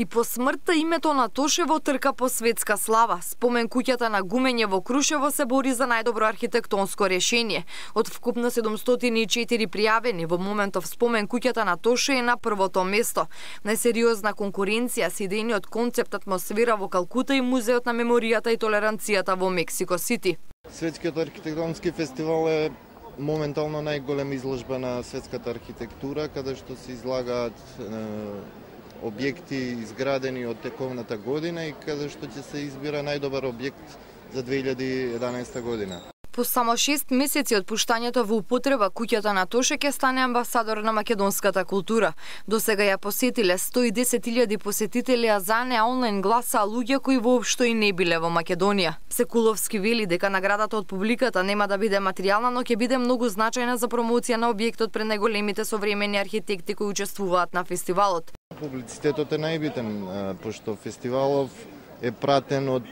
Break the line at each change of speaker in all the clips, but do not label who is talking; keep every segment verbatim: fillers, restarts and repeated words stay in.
И по смртта името на Тошево трка по светска слава. Спомен куќата на Гумење во Крушево се бори за најдобро архитектонско решение. Од вкупно седумстотини и четири пријавени, во моментов спомен куќата на Тоше е на првото место. Најсериозна конкуренција се идејниот концепт атмосфера во Калкута и Музеот на меморијата и толеранцијата во Мексико Сити.
Светскиот архитектонски фестивал е моментално најголема изложба на светската архитектура, каде што се излагаат е, објекти изградени од тековната година и каде што ќе се избира најдобар објект за две илјади и еданаесета година.
По само шест месеци од пуштањето во употреба, куќата на Тоше ќе стане амбасадор на македонската култура. До сега ја посетиле сто и десет илјади посетители, а за неа онлайн гласа луѓе кои воопшто и не биле во Македонија. Секуловски вели дека наградата од публиката нема да биде материјална, но ќе биде многу значајна за промоција на објектот пред најголемите современи архитекти кои учествуваат на фестивалот.
Публицитетот е најбитен, пошто фестивалов е пратен од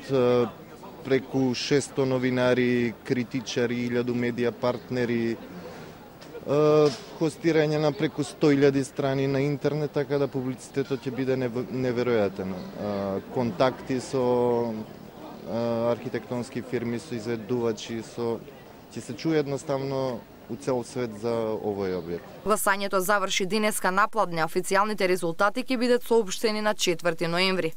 преку шесто новинари, критичари, илјаду медија партнери, хостирање на преку сто илјади страни на интернет, така да публицитетот ќе биде неверојатен. Контакти со архитектонски фирми, со изведувачи, со ќе се чуе едноставно у цел свет за овој објект.
Гласањето заврши денеска напладне, официјалните резултати ќе бидат соопштени на четврти ноември.